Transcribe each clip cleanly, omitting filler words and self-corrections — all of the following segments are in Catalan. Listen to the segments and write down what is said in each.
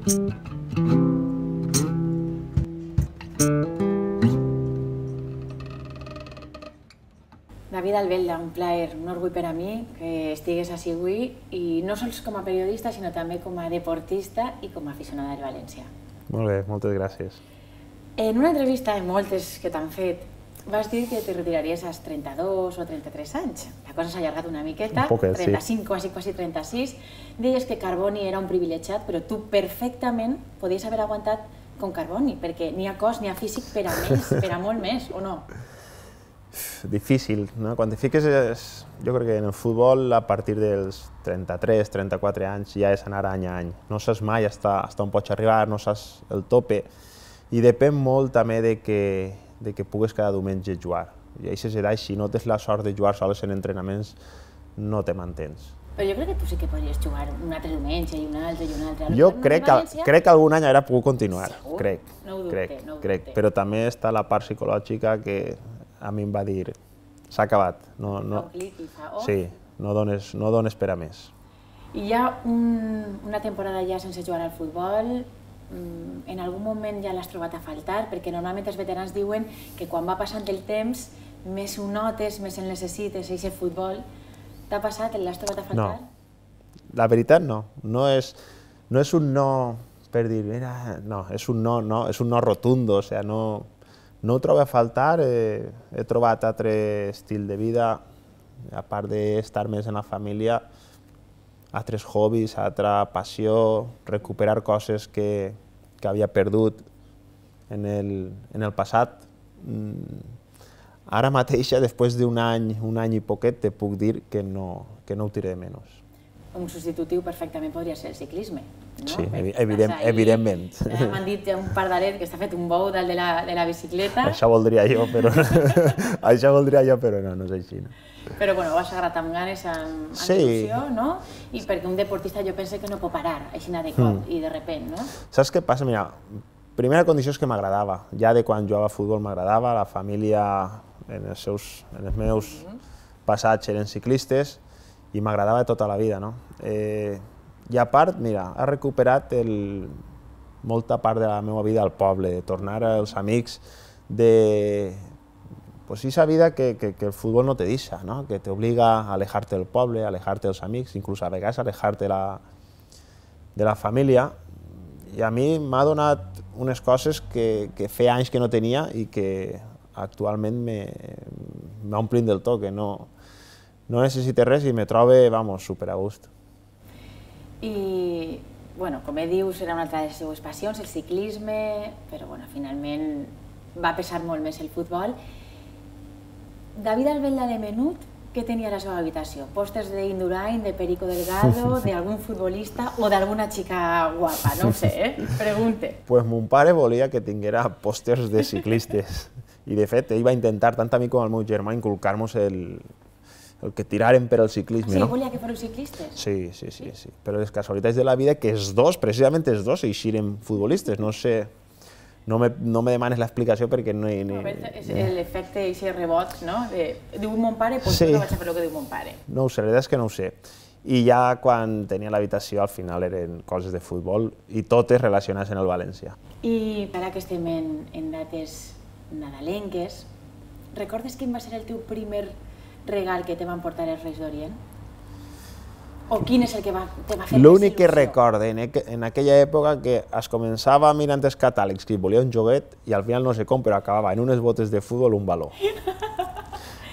David Albelda, un plaer, un orgull per a mi que estigues així avui, i no sols com a periodista, sinó també com a deportista i com a aficionada del València. Molt bé, moltes gràcies. En una entrevista, en moltes que t'han fet, vas dir que te retiraries als 32 o 33 anys. La cosa s'ha allargat una miqueta, Un poquet, sí. 35, quasi 36. Deies que Carboni era un privilegiat, però tu perfectament podies haver aguantat com Carboni, perquè ni ha cos ni ha físic per a més, per a molt més, o no? Difícil, no? Quan te fiques, jo crec que en el futbol a partir dels 33, 34 anys ja és anar any a any. No saps mai hasta on pots arribar, no saps el tope, i depèn molt també de que pugues cada diumenge jugar. I a aquestes edats, si no tens la sort de jugar sols en entrenaments, no te mantens. Però jo crec que tu sí que podries jugar un altre diumenge i un altre i un altre. Jo crec que algun any haurà pogut continuar, Segur? crec, No ho dubte, no ho dubte. però també està la part psicològica que a mi em va dir, s'ha acabat. Fa un clic i fa off. Sí, no dones per a més. I hi ha una temporada ja sense jugar al futbol, en algun moment ja l'has trobat a faltar, perquè normalment els veterans diuen que quan va passant el temps més ho notes, més el necessites, aquest futbol. T'ha passat? L'has trobat a faltar? No, la veritat no. No és un no per dir, mira, no, és un no rotundo, o sigui, no ho trobo a faltar, he trobat altre estil de vida, a part d'estar més en la família, altres hobbies, altra passió, recuperar coses que havia perdut en el passat. Ara mateix, després d'un any i poquet, te puc dir que no ho tiré de menys. Un substitutiu perfectament podria ser el ciclisme, no? Sí, evidentment. M'han dit un pardalet que està fet un bou dalt de la bicicleta. Això voldria jo, però no és així. Però bueno, vas agarrat amb ganes, amb il·lusió, no? I perquè un deportista jo penso que no pot parar, així de cop i de repent, no? Saps què passa? Mira, primera condició és que m'agradava. Ja de quan jugava a futbol m'agradava, la família en els meus passats eren ciclistes, i m'agradava tota la vida, no? I a part, mira, ha recuperat molta part de la meva vida al poble, de tornar als amics, de esa vida que el futbol no te deixa, no? Que t'obliga a alejar-te del poble, a alejar-te dels amics, inclús a vegades a alejar-te de la família. I a mi m'ha donat unes coses que feia anys que no tenia i que actualment m'omplin del tot, que no necessito res i me trobo, super a gust. I, bueno, com dius, era una altra de les seues passions, el ciclisme, però, bueno, finalment va pesar molt més el futbol. David Albelda de menut, què tenia a la seva habitació? Pòsters d'Indurain, de Perico Delgado, d'algun futbolista o d'alguna xica guapa? No ho sé, pregunte. Pues mon pare volia que tinguera pòsters de ciclistes. I, de fet, ell va intentar, tant a mi com al meu germà, inculcar-nos el que tiraren per al ciclisme. Sí, volia que fóreu ciclistes? Sí. Però les casualitats de la vida que els dos, precisament els dos, eixiren futbolistes. No sé, no me demanes l'explicació perquè no hi... És l'efecte, aquest rebot, no? Diu mon pare, doncs no vaig a fer el que diu mon pare. No ho sé, la veritat és que no ho sé. I ja quan tenia l'habitació, al final eren coses de futbol i totes relacionades amb el València. I ara que estem en dates nadalenques, recordes quin va ser el teu primer regal que te van portar els Reis d'Orient? O quin és el que te va fer més il·lusió? L'únic que recorde en aquella època que es començava mirant els catàlegs que volia un joguet i al final no sé com, però acabava en unes botes de futbol un baló.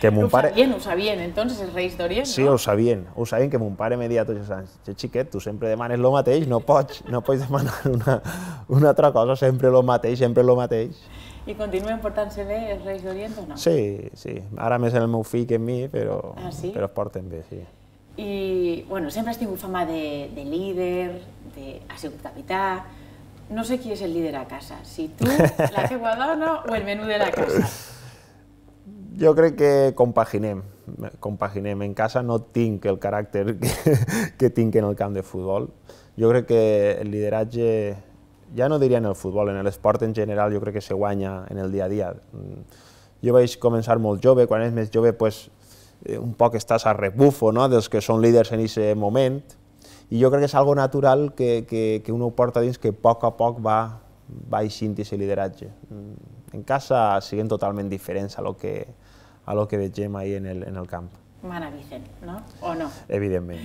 Ho sabien, entonces, els Reis d'Orient, no? Sí, ho sabien que mon pare me deia tots els anys, xiquet, tu sempre demanes el mateix, no pots demanar una altra cosa, sempre el mateix. I continuen portant-se bé els Reis d'Orient o no? Sí. Ara més en el meu fill que en mi, però es porten bé, sí. I, bueno, sempre has tingut fama de líder, has sigut capità. No sé qui és el líder a casa, si tu, la teua dona o el menú de la casa. Jo crec que compaginem. En casa no tinc el caràcter que tinc en el camp de futbol. Jo crec que el lideratge, ja no diria en el futbol, en l'esport en general, jo crec que se guanya en el dia a dia. Jo vaig començar molt jove, quan és més jove, un poc estàs a rebufo dels que són líders en aquest moment, I jo crec que és algo natural que uno porta dins, que a poc va eixint aquest lideratge. En casa siguen totalment diferents a lo que vegem ahir en el camp. Mana Vicent, no? O no? Evidentment.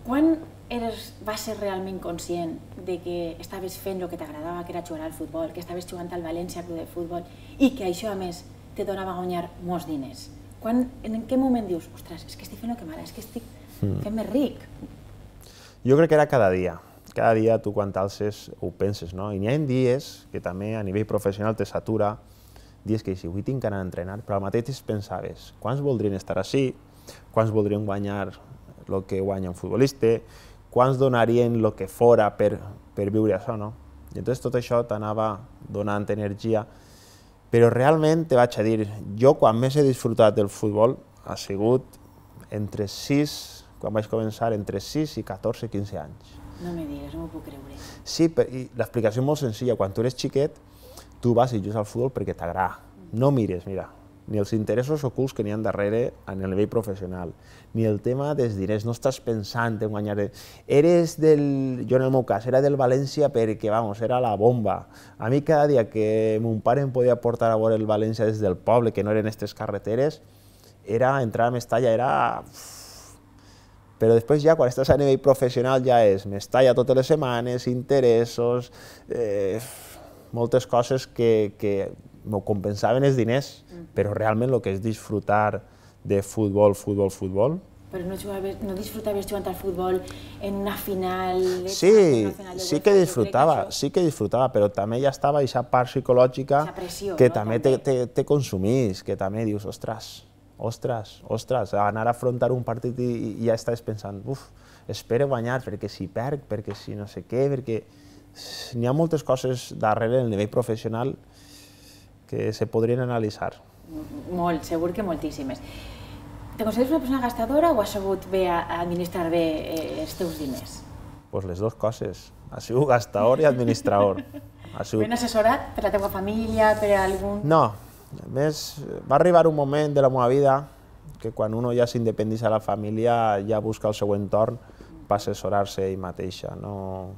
Quan vas ser realment conscient de que estaves fent el que t'agradava, que era jugar al futbol, que estaves jugant al València Club de Futbol i que això, a més, te donava a guanyar molts diners? En què moment dius, ostres, és que estic fent el que m'agrada, és que estic fent-me ric? Jo crec que era cada dia. Cada dia tu quan t'alces ho penses, no? I n'hi ha dies que també a nivell professional te satura, dies que si avui tinc que anar a entrenar, però al mateix pensaves, quants voldrien estar així, quants voldrien guanyar el que guanya un futbolista, quants donarien el que fora per viure això, no? I entonces tot això t'anava donant energia, però realment te vaig a dir, jo quan més he disfrutat del futbol ha sigut entre 6, quan vaig començar, entre 6 i 14, 15 anys. No me digues, no m'ho puc creure. Sí, i l'explicació és molt senzilla. Quan tu eres xiquet, tu vas i jugues al futbol perquè t'agrada. No mires, mira, ni els interessos ocults que n'hi ha darrere a nivell professional, ni el tema dels diners, no estàs pensant en guanyar... Jo en el meu cas, era del València perquè, vamos, era la bomba. A mi cada dia que mon pare em podia portar a veure el València des del poble, que no eren aquestes carreteres, entrar a Mestalla era... Però després ja, quan estàs a nivell professional, ja és Mestalla totes les setmanes, interessos, moltes coses que m'ho compensaven els diners, però realment el que és disfrutar de futbol. Però no disfrutaves jugant al futbol en una final? Sí que disfrutava, però també ja estava aquesta part psicològica que també te consumís, que també dius, ostres, anar a afrontar un partit i ja estàs pensant, espero guanyar, perquè si perc, perquè si no sé què, perquè n'hi ha moltes coses darrere del nivell professional que se podrien analitzar. Molt, segur que moltíssimes. Te consideres una persona gastadora o has sabut bé administrar bé els teus diners? Pues les dues coses. Ha sigut gastador i administrador. Ben assessorat per la teva família, per algun... No, a més, va arribar un moment de la meva vida que quan uno ja s'independeix de la família ja busca el seu entorn per assessorar-se ell mateixa. No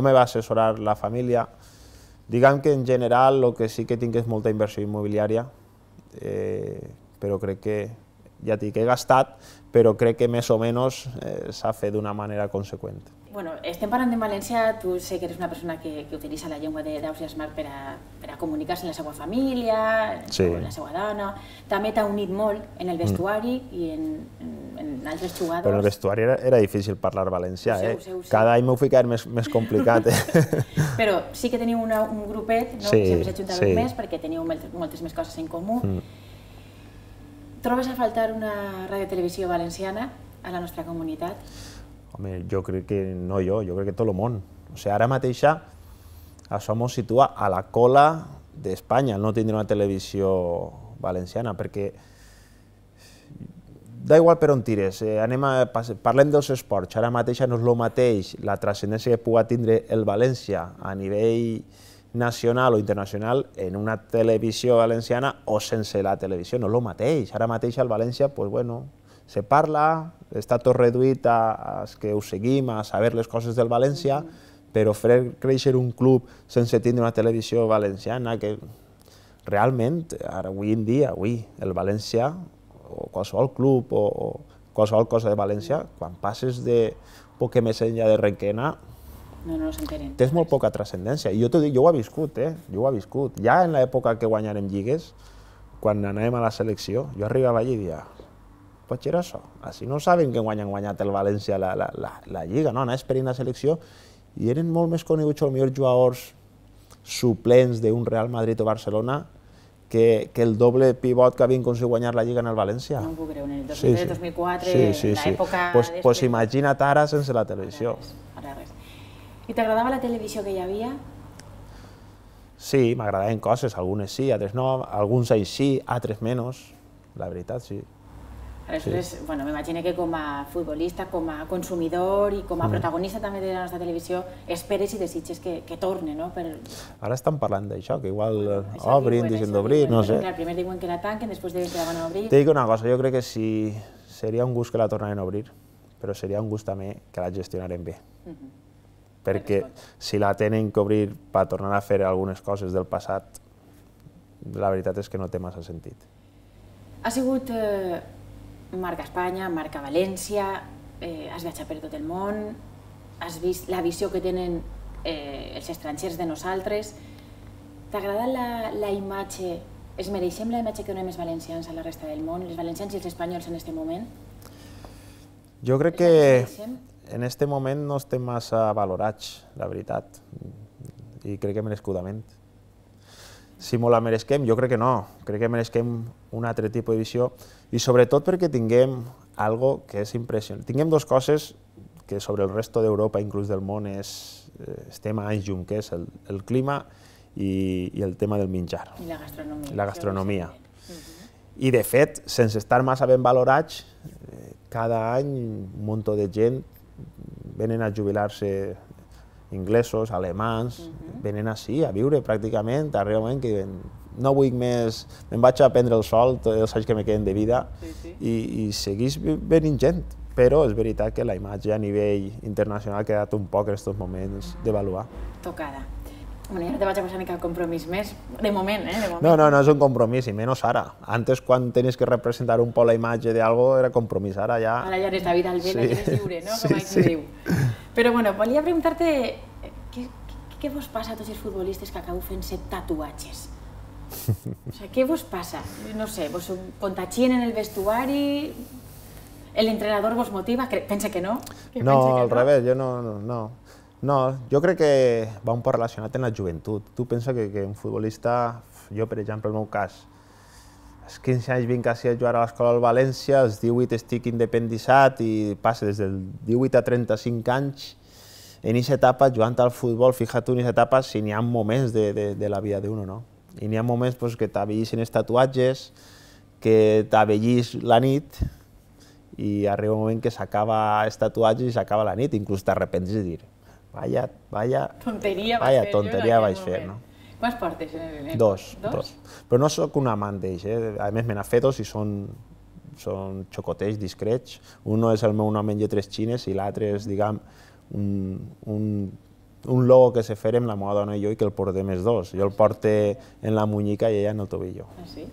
me va assessorar la família. Diguem que en general el que sí que tinc és molta inversió immobiliària, però crec que, ja dic, he gastat, però crec que més o menys s'ha fet d'una manera conseqüent. Bueno, estem parlant en València, tu sé que eres una persona que utilitza la llengua d'Ausiàs Marc per a comunicar-se amb la seva família, amb la seva dona. També t'ha unit molt en el vestuari i en altres jugadors. Però en el vestuari era difícil parlar valencià, cada any m'ho ficava més complicat. Però sí que teniu un grupet, sempre s'ajuntàveu més perquè teniu moltes més coses en comú. Trobes a faltar una radiotelevisió valenciana a la nostra comunitat? Home, jo crec que no jo crec que tot el món. O sigui, ara mateixa això ens situa a la cola d'Espanya, no tindre una televisió valenciana, perquè da igual per on tires, parlem dels esports, ara mateixa no és el mateix la transcendència que pugui tindre el València a nivell nacional o internacional en una televisió valenciana o sense la televisió, no és el mateix. Ara mateix al València, se parla, està tot reduït a que ho seguim, a saber les coses del València, però fer créixer un club sense tindre una televisió valenciana, que realment, avui en dia, el València, o qualsevol club o qualsevol cosa de València, quan passes de poc més enllà de Requena, tens molt poca transcendència. I jo t'ho dic, jo ho he viscut. Ja en l'època que guanyarem lligues, quan anàvem a la selecció, jo arribava allà i dia, pot ser això? Així no saben que han guanyat el València la Lliga, no? Anaves per la selecció i eren molt més coneguts els millors jugadors suplents d'un Real Madrid o Barcelona que el doble pivot que havien aconseguit guanyar la Lliga en el València. No m'ho puc creure, en el 2003-2004, en l'època... Doncs imagina't ara sense la televisió. I t'agradava la televisió que hi havia? Sí, m'agradaven coses, algunes sí, altres no, alguns anys sí, altres menys, la veritat sí. Aleshores, m'imagino que com a futbolista, com a consumidor i com a protagonista també de la nostra televisió, esperes i desitges que torni, no? Ara estan parlant d'això, que igual obrin, deixen d'obrir, no sé. Primer diuen que la tanquen, després diuen que la van a obrir. T'he dit una cosa, jo crec que sí, seria un gust que la tornaran a obrir. però seria un gust també que la gestionaren bé. Perquè si la tenen que obrir per tornar a fer algunes coses del passat, la veritat és que no té massa sentit. Ha sigut marca Espanya, marca València, has viatjat per tot el món, has vist la visió que tenen els estrangers de nosaltres. T'ha agradat la imatge, es mereixem la imatge que donem els valencians a la resta del món, els valencians i els espanyols en aquest moment? Jo crec que en aquest moment no estem massa valorats, la veritat, i crec que merescudament. Si molt la mereixem, jo crec que no, crec que mereixem un altre tipus de visió, i sobretot perquè tinguem algo que és impressionant. Tinguem dues coses que sobre el resto d'Europa, inclús del món, estem a anys llum, que és el clima i el tema del menjar. I la gastronomia. La gastronomia. I de fet, sense estar massa ben valorats, cada any un munt de gent venen a jubilar-se inglesos, alemans, venen així a viure pràcticament, realment que diuen no vull més, me'n vaig a prendre el sol tots els anys que me queden de vida i segueix venint gent, però és veritat que la imatge a nivell internacional ha quedat un poc en aquests moments d'avaluar. Tocada. Bueno, ja no te vaig a posar ni cap compromís més, de moment, de moment. No és un compromís, i menys ara. Antes, quan tenies que representar un poc la imatge d'algo, era compromís, ara ja... Ara ja eres David Albel, ja eres lliure, no? Com aquí diu. Però, bueno, volia preguntar-te què vos passa a tots els futbolistes que acabeu fent-se tatuatges? O sigui, què vos passa? No sé, vos contagien en el vestuari? L'entrenador vos motiva? Pensa que no? No, al revés, jo no. No, jo crec que va un poc relacionat amb la joventut. Tu pensa que un futbolista, jo per exemple, el meu cas, als 15 anys vinc a jugar a l'escola del València, als 18 estic independitzat i passa des del 18 a 35 anys en aquesta etapa jugant al futbol, fixa't tu en aquesta etapa si n'hi ha moments de la vida d'uno, no? I n'hi ha moments que t'avellissin els tatuatges, que t'avellís la nit i arriba un moment que s'acaba els tatuatges i s'acaba la nit, inclús t'arrepents de dir vaya tonteria vaig fer, no? Quants portes? Dos. Però no sóc un amant d'ells, a més me n'ha fet dos i són xocotets discrets. Un és el meu nom en lletres xines i l'altre és, diguem, un logo que se fem la meva dona i jo i que el portem els dos. Jo el porte en la muñeca i ella en el tobillo. Ah, sí?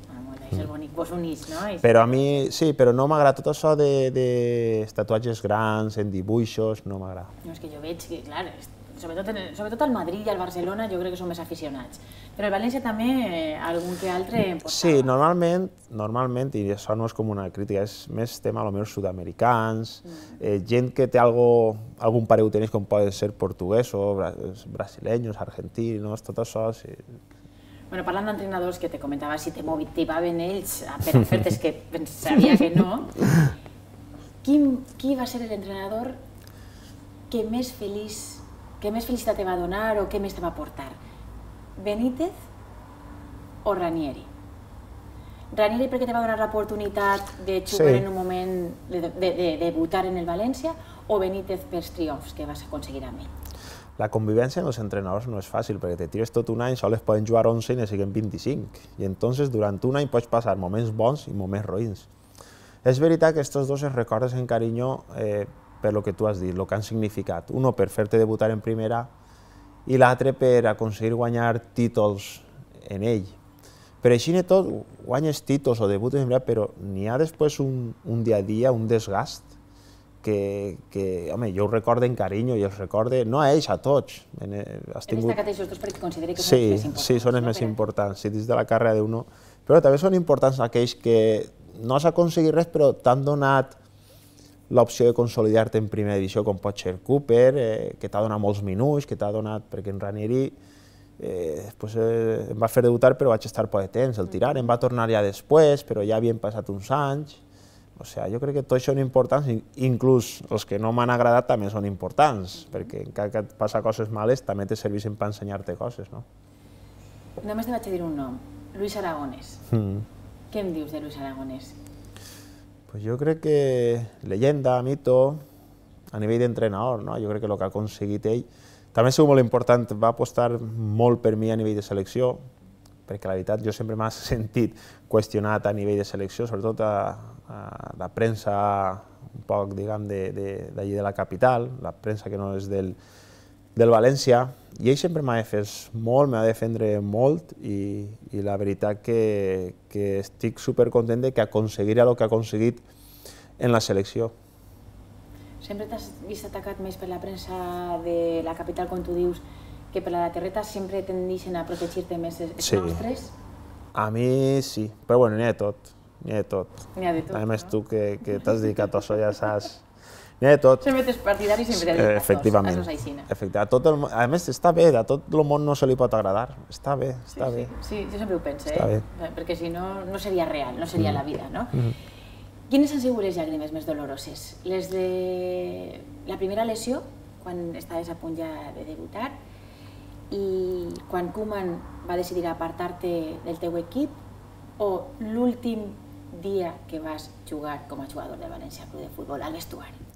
És el bonic, vos unís, no? Però a mi, sí, però no m'agrada tot això de tatuatges grans, en dibuixos, no m'agrada. No, és que jo veig que, clar, sobretot al Madrid i al Barcelona jo crec que són més aficionats. Però al València també algun que altre em portava. Sí, normalment, i això no és com una crítica, és més tema potser sud-americans, gent que té algun pare ho tenéis com poden ser portuguesos, brasileños, argentinos, tot això, sí. Bueno, parlant d'entrenadors que te comentava, si te motivaven ells per ofertes que sabia que no, qui va ser l'entrenador que més felicitat te va donar o que més te va aportar? Benítez o Ranieri? Ranieri perquè te va donar l'oportunitat de jugar en un moment, de debutar en el València, o Benítez pels triomfs que vas aconseguir amb ell? La convivència amb els entrenadors no és fàcil, perquè te tires tot un any, sols poden jugar 11 i ne siguen 25. I entonces durant un any pots passar moments bons i moments roïns. És veritat que aquests dos es recordes en carinyo per lo que tu has dit, el que han significat. Uno per fer-te debutar en primera i l'altre per aconseguir guanyar títols en ell. Per així i tot, guanyes títols o debutes en primera, però n'hi ha després un dia a dia, un desgast, que, home, jo ho recordo en carinyo i els recorde, no a ells, a tots. He destacat aquests dos perquè consideri que són els més importants. Sí, són els més importants, sí, dins de la carrera d'uno. Però també són importants aquells que no has aconseguit res, però t'han donat l'opció de consolidar-te en primera divisió, com pot ser Cooper, que t'ha donat molts minuts, que t'ha donat, perquè en Ranieri em va fer debutar, però vaig estar poc de temps, el tirar, em va tornar ja després, però ja havien passat uns anys. O sigui, jo crec que tots són importants, inclús els que no m'han agradat també són importants, perquè encara que et passa coses males també te serveixen per ensenyar-te coses, no? Només te vaig a dir un nom, Luis Aragonès. Què em dius de Luis Aragonès? Jo crec que leyenda, mito, a nivell d'entrenador, jo crec que el que ha aconseguit ell també ha sigut molt important, va apostar molt per mi a nivell de selecció, perquè la veritat jo sempre m'ha sentit qüestionat a nivell de selecció, sobretot a la premsa un poc, diguem, d'allí de la capital, la premsa que no és del València, i ell sempre m'ha defès molt, m'ha de defendre molt, i la veritat que estic supercontent que aconseguirà el que ha aconseguit en la selecció. Sempre t'has vist atacat més per la premsa de la capital, com tu dius, que per la de terreta? Sempre tendeixen a protegir-te més els nostres? A mi sí, però bueno, n'hi ha de tot. N'hi ha de tot. N'hi ha de tot, a més, tu que t'has dedicat a això ja saps. N'hi ha de tot. Sempre t'és partidari i sempre t'has dedicat a efectivament. A més, està bé, a tot el món no se li pot agradar. Està bé, està bé. Sí, jo sempre ho penso, perquè si no, no seria real, no seria la vida, no? Quines han sigut les llàgrimes més doloroses? Les de la primera lesió, quan estaves a punt ja de debutar, i quan Koeman va decidir apartar-te del teu equip, o l'últim dia que vas jugar com a jugador del València Club de Futbol al vestuari?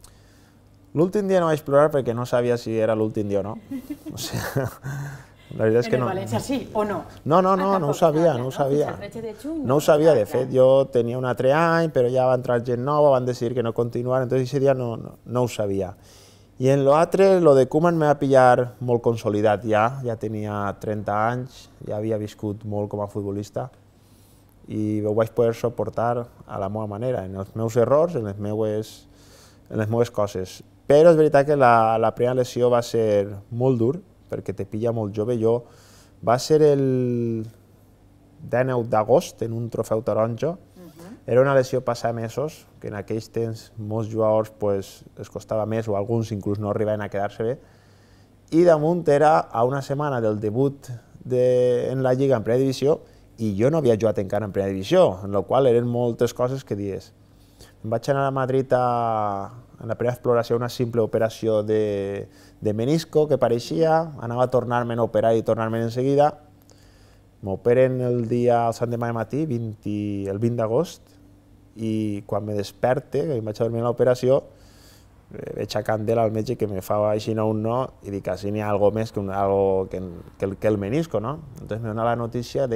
L'últim dia no vaig plorar perquè no sabia si era l'últim dia o no. O sigui, la veritat és que no. En el València sí o no? No ho sabia, no ho sabia. No ho sabia, de fet, jo tenia un altre any, però ja va entrar gent nova, van decidir que no continuar, entonces ese dia no ho sabia. I en l'altre, lo de Koeman me va pillar molt consolidat ja tenia 30 anys, ja havia viscut molt com a futbolista, i ho vaig poder suportar a la meva manera, en els meus errors, en les meves coses. Però és veritat que la primera lesió va ser molt dur, perquè te pilla molt jove. Va ser el 19 d'agost, en un trofeu taronja. Era una lesió passada mesos, que en aquells temps molts jugadors es costava més, o alguns inclús no arribaven a quedar-se bé. I damunt era a una setmana del debut en la Lliga en primera divisió, i jo no havia jugat encara en primera divisió, en la qual eren moltes coses que dies. Em vaig anar a Madrid en la primera exploració, una simple operació de menisco que pareixia, anava a tornar-me'n a operar i tornar-me'n en seguida. M'operen el Sant demà de matí, el 20 d'agost, i quan me desperte, que em vaig a dormir a l'operació, veig a candela al metge que me fa així un no, i dic, així n'hi ha alguna més que el menisco, no? Entonces me dona la notícia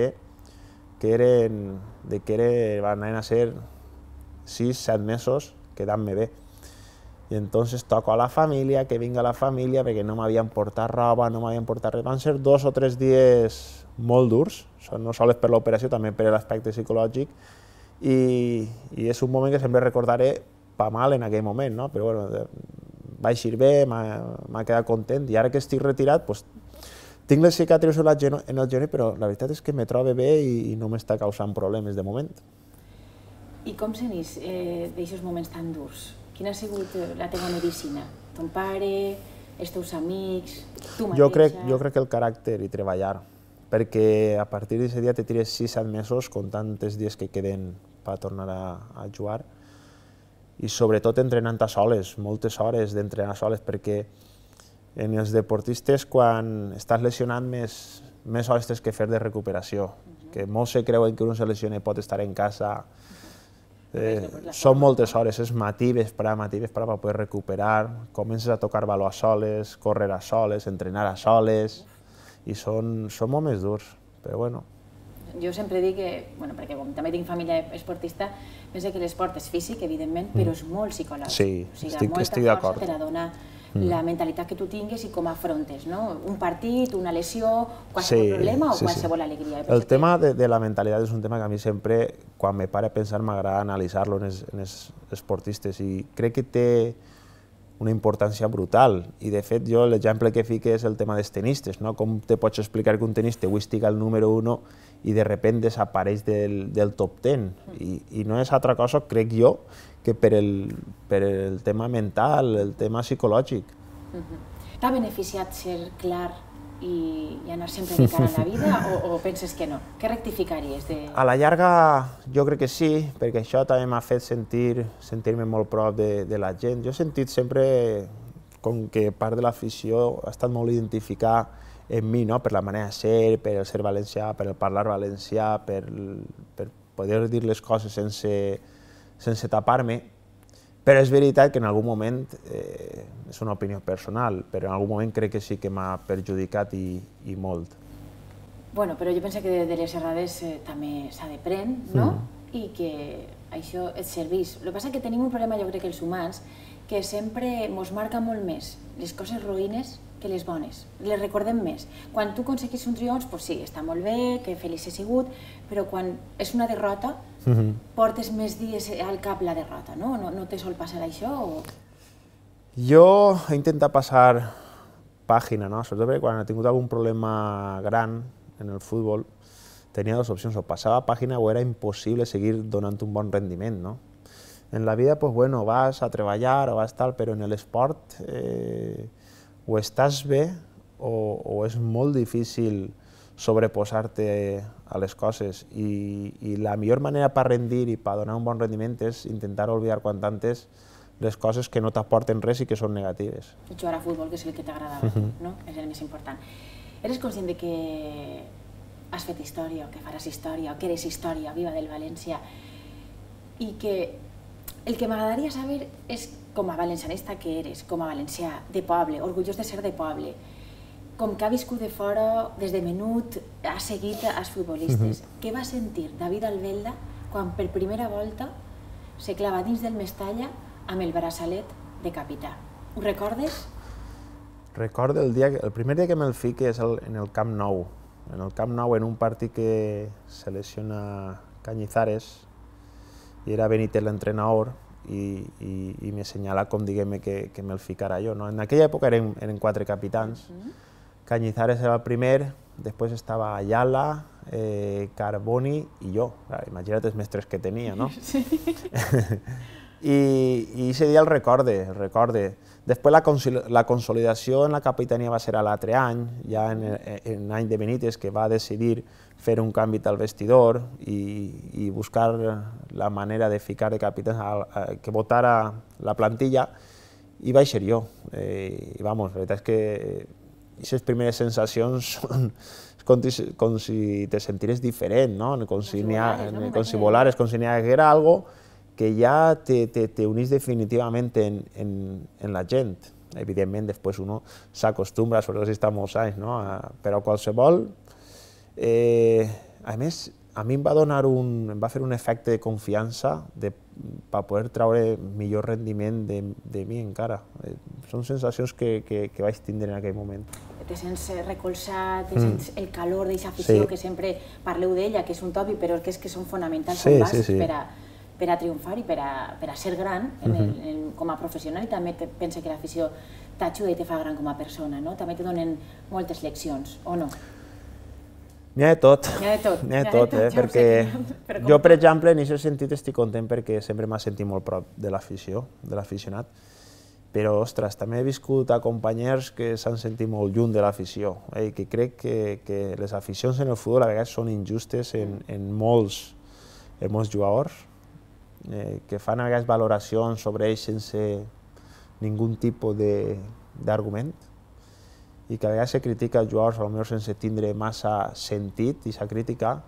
que van a ser 6-7 mesos quedant-me bé. I entonces toco a la família, que vinga la família, perquè no m'havien portat roba, no m'havien portat res. Van ser 2 o 3 dies molt durs, no sols per l'operació, també per l'aspecte psicològic, i és un moment que sempre recordaré pa mal en aquell moment, no? Però bueno, vaig ir bé, m'ha quedat content, i ara que estic retirat, tinc les cicatrius en el genoll, però la veritat és que me trobo bé i no m'està causant problemes de moment. I com s'enís d'aixòs moments tan durs? Quina ha sigut la teva medicina? Ton pare, els teus amics, tu mateixa? Jo crec que el caràcter i treballar, perquè a partir d'aquest dia te tires 6-7 mesos comptant els dies que queden per tornar a jugar, i sobretot entrenant a soles, moltes hores d'entrenar a soles, perquè en els deportistes, quan estàs lesionat, més hores tens que fer de recuperació, que molts se creuen que un se lesiona i pot estar en casa. Són moltes hores, és matí, vesprà per poder recuperar, comences a tocar baló a soles, córrer a soles, entrenar a soles, i són molt més durs, però bueno. Jo sempre dic que, perquè com també tinc família esportista, penso que l'esport és físic, evidentment, però és molt psicològic. Sí, estic d'acord. Molta força te la dona la mentalitat que tu tingues i com afrontes, no? Un partit, una lesió, qualsevol problema o qualsevol alegria. El tema de la mentalitat és un tema que a mi sempre, quan me pare a pensar, m'agrada analitzar-lo en els esportistes, i crec que té una importància brutal, i de fet jo l'exemple que fico és el tema dels tenistes, no? Com te pots explicar que un tenista avui estigui al número 1 i de sobte desapareix del top 10, i no és altra cosa, crec jo, que per el tema mental, el tema psicològic. T'ha beneficiat ser clar i anar sempre de cara a la vida, o penses que no? Què rectificaries? A la llarga jo crec que sí, perquè això també m'ha fet sentir-me molt prop de la gent. Jo he sentit sempre com que part de l'afició ha estat molt identificar en mi, per la manera de ser, per el ser valencià, per el parlar valencià, per poder dir les coses sense tapar-me, però és veritat que en algun moment, és una opinió personal, però en algun moment crec que sí que m'ha perjudicat i molt. Bueno, però jo penso que de les errades també s'ha d'aprendre, no? I que això et serveix. El que passa és que tenim un problema, jo crec, els humans, que sempre ens marca molt més les coses roïnes que les bones, les recordem més. Quan tu aconseguis un triomf, doncs sí, està molt bé, que feliç he sigut, però quan és una derrota, portes més dies al cap la derrota, no? No te sol passar això? Jo he intentat passar pàgina, no? Sobretot perquè quan he tingut algun problema gran en el futbol, tenia dues opcions, o passava pàgina o era impossible seguir donant un bon rendiment, no? En la vida, pues bueno, vas a treballar o vas tal, però en l'esport o estàs bé o és molt difícil sobreposar-te a les coses i la millor manera per rendir i per donar un bon rendiment és intentar oblidar quant antes les coses que no t'aporten res i que són negatives. Jugar a futbol, que és el que t'agradava, no? És el més important. Eres conscient de que has fet història, o que faràs història, o que eres història viva del València, i que el que m'agradaria saber és, com a valencianista que eres, com a valencià, de poble, orgullós de ser de poble, com que ha viscut de fora, des de menut, ha seguit els futbolistes. Què va sentir David Albelda quan per primera volta se clava dins del Mestalla amb el braçalet de capità? Ho recordes? Recordo el primer dia que me'l fique és en el Camp Nou. En el Camp Nou, en un partit que selecciona Cañizares, i era Benítez l'entrenador, i m'assenyala com diguem que me'l ficara jo. En aquella època eren 4 capitans. Cañizares era el primer, després estava Ayala, Carboni i jo. Imagina't els mestres que tenia, no? I aquest dia el recorde. Després la consolidació en la capitania va ser a l'altre any, ja en l'any de Benítez, que va decidir fer un canvi al vestidor i buscar la manera de ficar de capità que votara la plantilla, i vaig ser jo. I vamos, la veritat és que aquestes primeres sensacions són com si te sentires diferent, no? Com si volares, com si n'hi haguera algo que ja te unís definitivament en la gent. Evidentment, després uno s'acostumbra, sobretot si està molts anys, no? Però qualsevol... A més, a mi em va fer un efecte de confiança per poder treure millor rendiment de mi encara. Són sensacions que vaig tindre en aquell moment. Te sents recolzat, te sents el calor d'aquesta afició, que sempre parleu d'ella, que és un tòpic, però és que són fonamentals com bàsics per a triomfar i per a ser gran com a professional, i també penso que l'afició t'ajuda i te fa gran com a persona, no? També te donen moltes leccions, o no? N'hi ha de tot, perquè jo, per exemple, en aquest sentit estic content perquè sempre m'ha sentit molt prop de l'afició, de l'aficionat, però, ostres, també he viscut a companys que s'han sentit molt lluny de l'afició, i que crec que les aficions en el futbol a vegades són injustes en molts jugadors, que fan a vegades valoracions sobre ells sense ningú tipus d'argument, i que a vegades se critica els jugadors potser sense tindre massa sentit i s'ha criticat.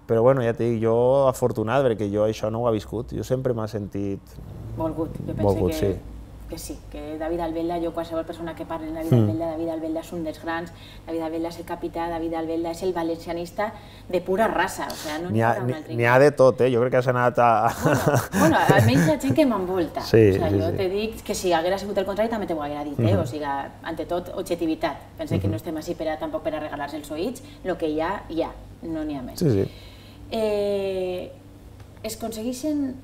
Però bueno, ja t'he dit, jo afortunat perquè jo això no ho he viscut, jo sempre m'he sentit volgut. Jo penso que sí, que David Albelda, jo qualsevol persona que parli de David Albelda és un dels grans, David Albelda és el capità, David Albelda és el valencianista de pura raça, o sigui, no n'hi ha un altre. N'hi ha de tot, jo crec que has anat a... Bueno, almenys la gent que m'envolta, jo te dic que si haguera sigut el contrari també t'ho haguera dit, o sigui, ante tot, objectivitat, penso que no estem així tampoc per a regalar-se els oïts, el que hi ha, no n'hi ha més. Es aconsegueixen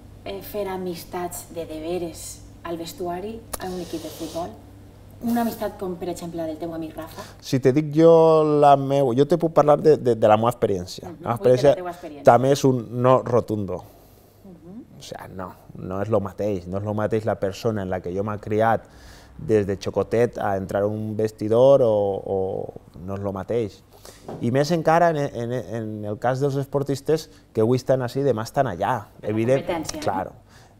fer amistats de veres al vestuari a un equip de futbol? Una amistat com, per exemple, del teu amic Rafa? Si te dic jo jo te puc parlar de la meva experiència. La meva experiència també és un no rotundo. O sigui, no és el mateix. No és el mateix la persona en la que jo m'he criat des de xocotet a entrar a un vestidor o no és el mateix. I més encara en el cas dels esportistes que avui estan així i demà estan allà. La competència. Claro.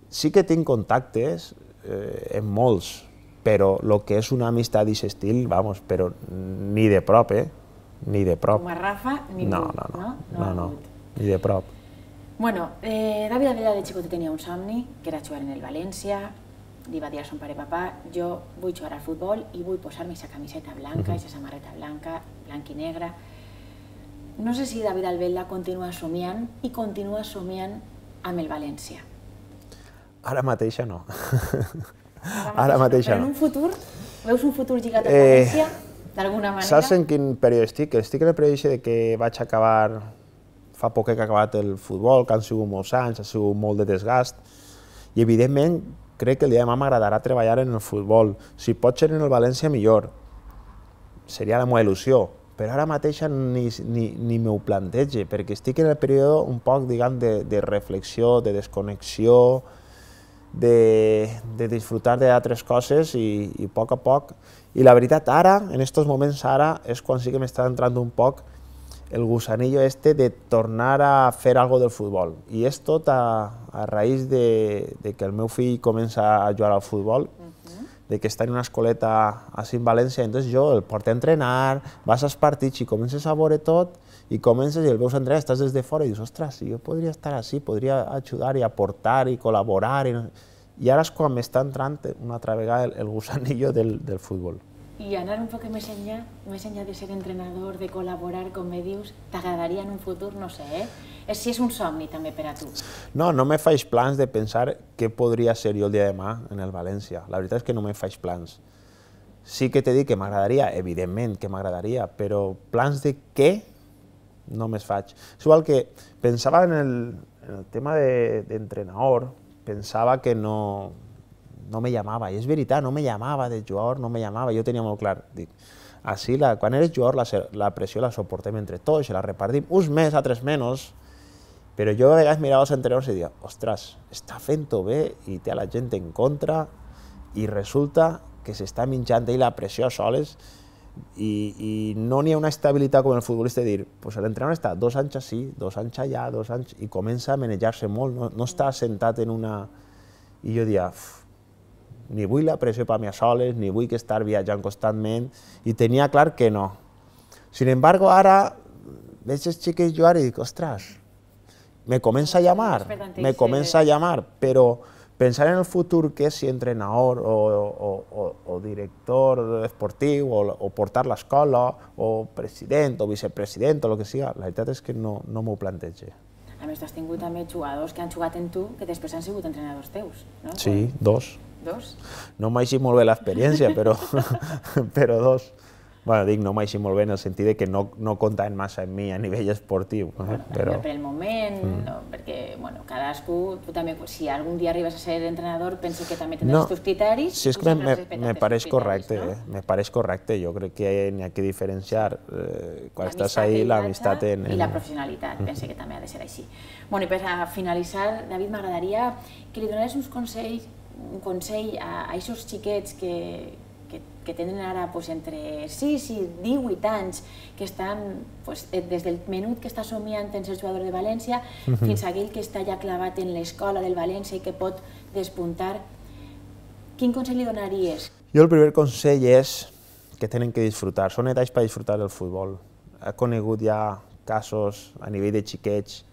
Sí que tinc contactes en molts, però el que és una amistat d'aquest estil, vamos, però ni de prop, ni de prop. Com a Rafa, ningú, no, ni de prop. Bueno, David Albelda de xicotet tenia un somni, que era jugar en el València, li va dir a son pare, papà, jo vull jugar al futbol i vull posar-me aquesta camiseta blanca, aquesta samarreta blanca, blanc i negra. No sé si David Albelda continua somiant i continua somiant amb el València? Ara mateixa no. Ara mateixa no. Però en un futur, veus un futur lligat al València, d'alguna manera? Saps en quin període estic? Estic en el període que vaig acabar, fa poc que he acabat el futbol, que han sigut molts anys, ha sigut molt de desgast, i evidentment crec que el dia de demà m'agradarà treballar en el futbol. Si pot ser en el València, millor. Seria la meva il·lusió. Però ara mateix ni m'ho plantege, perquè estic en el període un poc, diguem, de reflexió, de desconnexió, de disfrutar d'altres coses i a poc. I la veritat, ara, en aquests moments, ara, és quan sí que m'està entrant un poc el gusanillo de tornar a fer algo del futbol. I és tot a raïs de que el meu fill comença a jugar al futbol, de que està en una escoleta així en València, entonces jo el porto a entrenar, vas als partits i comences a veure tot, i comences i el veus entrenar, estàs des de fora i dius, ostres, jo podria estar així, podria ajudar i aportar i col·laborar, i ara és quan m'està entrant una altra vegada el gusanillo del futbol. I anar un poc més enllà de ser entrenador, de col·laborar, com me dius, t'agradaria en un futur, no sé, si és un somni també per a tu. No me faig plans de pensar què podria ser jo el dia de demà en el València. La veritat és que no me faig plans. Sí que t'he dit que m'agradaria, evidentment que m'agradaria, però plans de què no me'ls faig. És igual que pensava en el tema d'entrenador, pensava que no me llamava, i és veritat, no me llamava de jugador, no me llamava, jo tenia molt clar, dic, així, quan eres jugador, la pressió la soportem entre tots, la repartim, uns més, altres menys, però jo a vegades mirava els entrenadors i deia, ostres, està fent-ho bé i té a la gent en contra i resulta que s'està menjant ell la pressió soles i no n'hi ha una estabilitat com el futbolista de dir, pues l'entrenador està 2 anys així, 2 anys allà, 2 anys, i comença a manejar-se molt, no està assentat en una... I jo deia, ni vull la pressió per mi a soles, ni vull estar viatjant constantment, i tenia clar que no. Sin embargo, ara veig els xiquets jugar i dic, ostres, me comença a llamar, però pensar en el futur que és si entrenador o director esportiu o portar l'escola o president o vicepresident o el que sigui, la veritat és que no m'ho plantege. A més, tu has tingut també jugadors que han jugat en tu que després han sigut entrenadors teus, no? Sí, 2. 2? No m'ha eixit molt bé l'experiència, però 2. Bueno, dic no m'ha eixit molt bé en el sentit que no comptaven massa en mi a nivell esportiu. Per el moment, perquè cadascú, tu també, si algun dia arribes a ser entrenador, penso que també tindràs els teus criteris. Sí, és que me pareix correcte, jo crec que n'hi ha que diferenciar quan estàs ahí l'amistat i la professionalitat, penso que també ha de ser així. I per finalitzar, David, m'agradaria que li donares un consell a aquests xiquets que tenen ara entre 6 i 18 anys, que estan des del menut que està somiant en ser jugador de València fins a aquell que està ja clavat en l'escola del València i que pot despuntar. Quin consell li donaries? Jo el primer consell és que tenen que disfrutar, són edats per disfrutar del futbol. He conegut ja casos a nivell de xiquets,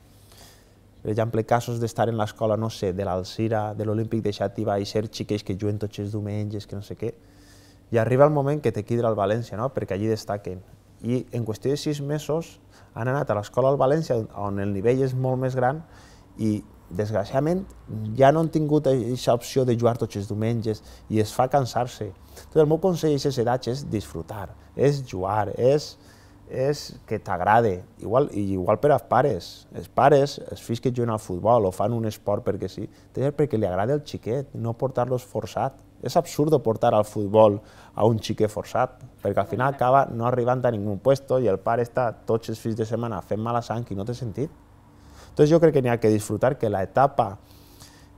per exemple, casos d'estar en l'escola, no sé, de l'Alzira, de l'Olímpic de Xàtiva i ser xiquets que juguen tots els diumenges, que no sé què, i arriba el moment que te quidra al València, perquè allí destaquen. I en qüestió de 6 mesos han anat a l'escola al València, on el nivell és molt més gran, i desgraciadament ja no han tingut aquesta opció de jugar tots els diumenges i es fa cansar-se. El meu consell a aquestes edats és disfrutar, és jugar, és que t'agrade. Igual per als pares. Els pares, els fills que juguen al futbol o fan un esport perquè sí, perquè li agrada el xiquet, no portar-los forçat. És absurd portar al futbol a un xiquet forçat, perquè al final acaba no arribant a ningú puesto i el pare està tots els fins de setmana fent mala sang i no té sentit. Entonces jo crec que n'hi ha que disfrutar que l'etapa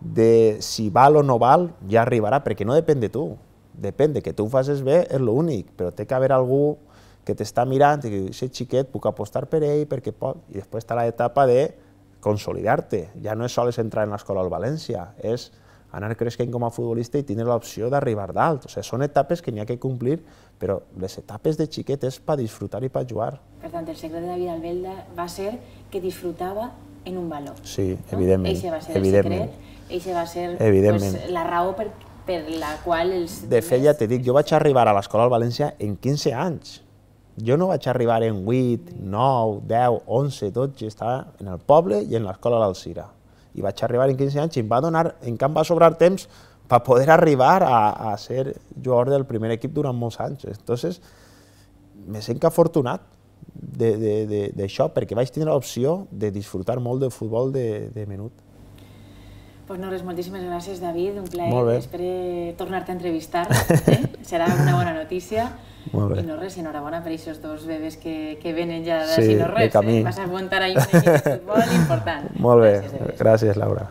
de si val o no val ja arribarà, perquè no depèn de tu. Depèn de que tu ho facis bé, és l'únic, però té que haver algú que t'està mirant i que aquest xiquet puc apostar per ell perquè pot, i després està l'etapa de consolidar-te. Ja no és sols entrar en l'escola al València, és anar creixent com a futbolista i tindre l'opció d'arribar dalt. Són etapes que n'hi ha que complir, però les etapes de xiquet és per disfrutar i per jugar. Per tant, el secret de David Albelda va ser que disfrutava en un valor. Sí, evidentment. Eixe va ser el secret, eixe va ser la raó per la qual els... De fet, ja t'he dit, jo vaig arribar a l'escola al València en 15 anys. Jo no vaig arribar en 8, 9, 10, 11, 12, estava en el poble i en l'escola a l'Alzira. i vaig arribar en 15 anys i em va donar, en camp va sobrar temps per poder arribar a ser jugador del primer equip durant molts anys. Entonces, me sento afortunat d'això, perquè vaig tenir l'opció de disfrutar molt del futbol de menut. Pues no res, moltíssimes gràcies, David, un plaer. Molt bé. Espero tornar-te a entrevistar, serà una bona notícia. Molt bé. I no res, enhorabona per aquests dos bebès que venen ja de Sí, si no res. de camí. Vas a muntar ahí un equip de futbol important. Molt bé, gràcies, Laura.